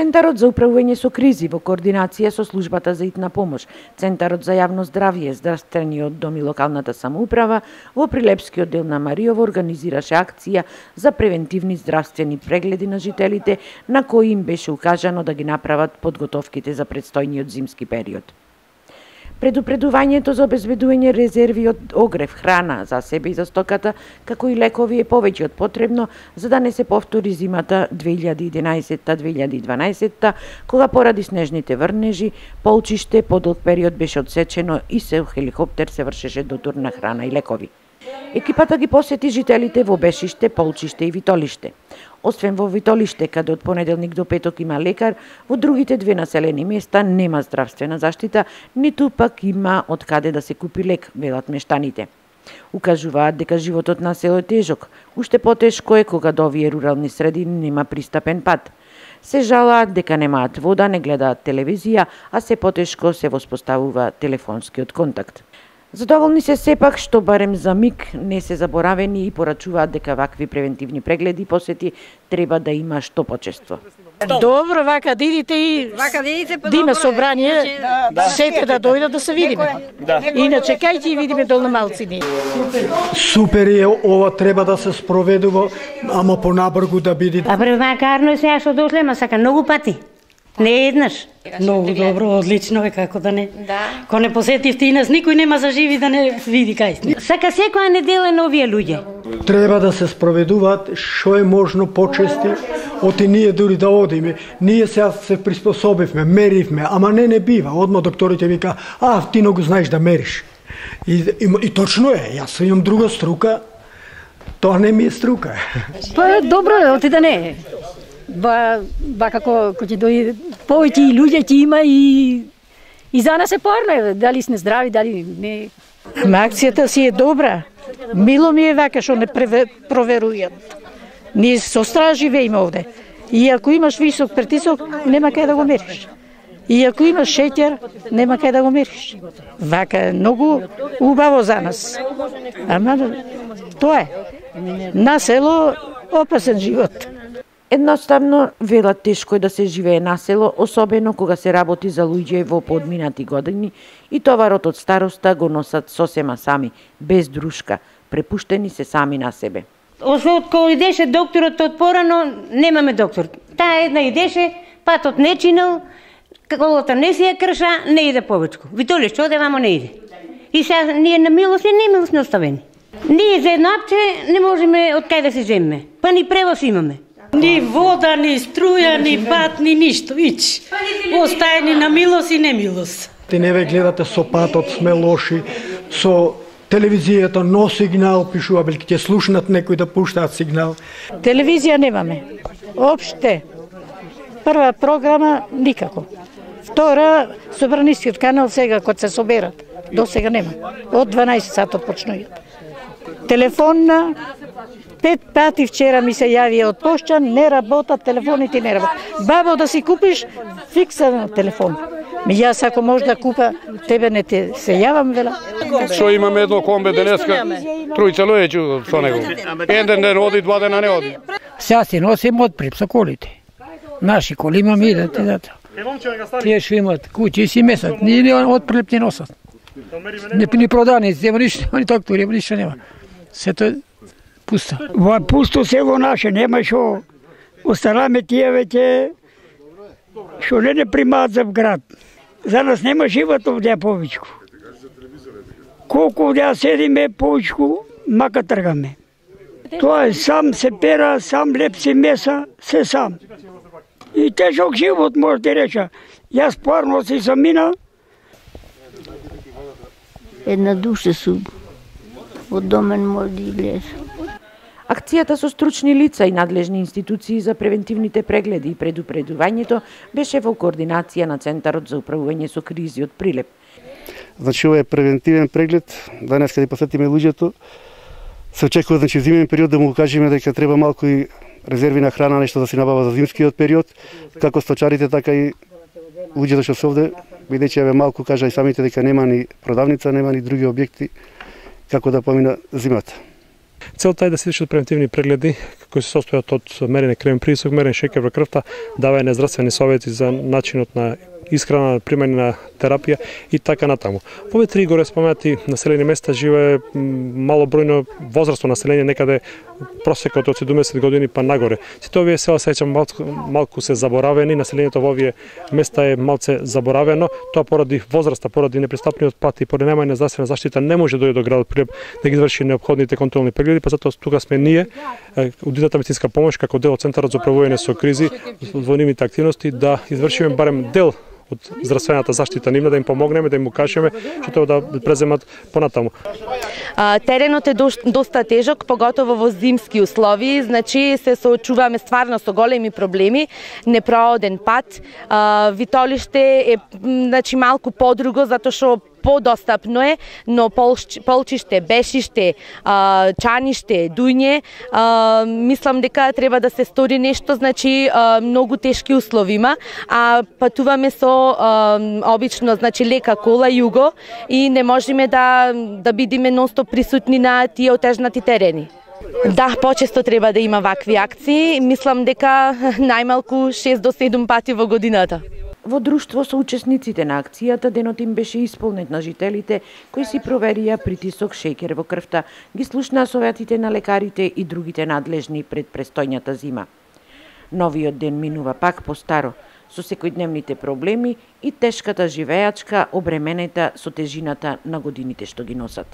Центарот за управување со кризи во координација со службата за итна помош, Центарот за јавно здравје, здравствениот дом и локалната самоуправа во Прилепскиот дел на Мариово организираше акција за превентивни здравствени прегледи на жителите, на кои им беше укажано да ги направат подготовките за предстојниот зимски период. Предупредувањето за обезбедување резерви од огрев, храна за себе и за стоката, како и лекови е повеќе од потребно за да не се повтори зимата 2011-2012, кога поради снежните врнежи, полчиште подолг период беше одсечено и со хеликоптер се вршеше дотур на храна и лекови. Екипата ги посети жителите во Бешиште, Полчиште и Витолиште. Освен во Витолиште, каде од понеделник до петок има лекар, во другите две населени места нема здравствена заштита, ниту пак има од каде да се купи лек, велат мештаните. Укажуваат дека животот на село е тежок, уште потешко е кога до овие рурални средини нема пристапен пат. Се жалаат дека немаат вода, не гледаат телевизија, а се потешко се воспоставува телефонскиот контакт. Задоволни се сепак што барем за миг не се заборавени и порачуваат дека вакви превентивни прегледи и посети треба да има што почесто. Добро, вака да идите и да има собрание, сите да дојдат да се видиме. Иначе кај ќе видиме долна малцини. Супер е, ова треба да се спроведува, ама понабргу да биде. А превакарно е сега што дошле, ма сака многу пати. Не еднаш. Многу добро, одлично е, како да не. Ко не посетивте и нас, никој нема за живи да не види кај сте. Сака секоја неделя на овие луѓе. Треба да се спроведуваат што е можно почести, оти ние дури да одиме. Ние сега се приспособивме, меривме, ама не бива. Одма докторите вика, ти не го знаеш да мериш. И точно е, јас имам друга струка, тоа не ми е струка. Па добро е, оти да не е. Ба како ќе дојде повеќе и луѓе ќе има и за нас е порно, дали сме здрави, дали не. Акцијата си е добра. Мило ми е вака што не проверуваат. Ние со страх живееме овде. И ако имаш висок притисок, нема кај да го мериш. И ако имаш шеќер, нема кај да го мериш. Вака е многу убаво за нас. Ама тоа е. На село опасен живот. Едноставно, велат тешко е да се живее на село, особено кога се работи за луѓе во подминати години и товарот од староста го носат сосема сами, без друшка, препуштени се сами на себе. Освен од кога идеше докторот од порано, немаме доктор. Таа една идеше, патот не чинел, колата не си ја крша, не иде повечко. Витолиште оде, вамо не иде. И сега ние на милост и немилост не оставени. Ние за едно апче не можеме од кај да се земеме, па ни превоз имаме. Ни вода, ни струја, ни пат, ни ништо, ич. Остаени на милост и немилост. Ти не ве гледате со патот, сме лоши, со телевизијата но сигнал пишува, бил ќе слушнат некој да пуштаат сигнал. Телевизија немаме. Опште. Прва програма никако. Втора, Собранискиот канал сега кога се соберат. До сега нема. Од 12 сатот почнуваат. Телефонна 5 пати вчера ми се јави од пошта, не работат телефоните, не работат. Бабо, да си купиш фиксен телефон. Јас ако може да купа, тебе не те се јавам, вела. Што имаме едно комбе денеска, тројца луѓе со него. Еден ден оди, два дена не оди. Сега си носим отпреп со колите. Наши коли имаме и тие што имат куќи си месат, ни отпреп не носат. Ни проданици, нема ништо, ни доктори, нема ништо нема. Сето пусто. Во пусто село наше, нема шо. Остараме тие веќе што не примаат за град. За нас нема живот овде повечко. Колку овде седиме повечко, мака тргаме. Тоа е сам се пера, сам лепси меса, се сам. И тежок живот може да реча. Јас порно си сам мина. Една душа су од домен може да излезе. Акцијата со стручни лица и надлежни институции за превентивните прегледи и предупредувањето беше во координација на Центарот за управување со кризи од Прилеп. Значи, ова е превентивен преглед, денес каде посетиме луѓето, се очекува, значи, зимен период да му кажеме дека треба малку и резерви на храна, нешто да се набава за зимскиот период, како сточарите, така и луѓето што се овде, бидејќи еве малку кажа и самите дека нема ни продавница, нема ни други објекти како да помина зимата. Целта е да се извршат превентивни прегледи кои се состојат од мерење крвен притисок, мерење шеќер во крвта, давање здравствени совети за начинот на исхрана, примање на терапија и така натаму. Во овие три горе споменати населени места живее малобројно возрастно население, некаде просекот од 70 години па нагоре. Сите овие села се малку се заборавени, населението во овие места е малце заборавено, тоа поради возраста, поради непристапниот пат и поради немање на здравствена заштита не може да дојде до градот Прилеп да ги изврши неопходните контролни прегледи, па затоа тука сме ние, Удитата медицинска помош како дел од Центарот за управување со кризи, во нивните активности да извршиме барем дел од здравствената заштита нивна, да им помогнеме, да им укажеме што треба да преземат понатаму. Теренот е доста тежок, поготово во зимски услови, значи се соочуваме стварно со големи проблеми, непрооден пат, витолиште е значи малку подруго затоа што подостапно е, но полчиште, бешиште, чаниште, дуње, мислам дека треба да се стори нешто, значи многу тешки услови има, а патуваме со обично, значи лека кола југо и не можеме да бидиме нонстоп присутни на тие отежнати терени. Да, почесто треба да има вакви акции, мислам дека најмалку 6 до 7 пати во годината. Во друштво со учесниците на акцијата, денот им беше исполнет на жителите кои си проверија притисок, шеќер во крвта, ги слушнаа советите на лекарите и другите надлежни пред престојната зима. Новиот ден минува пак по старо, со секојдневните проблеми и тешката живеачка обременета со тежината на годините што ги носат.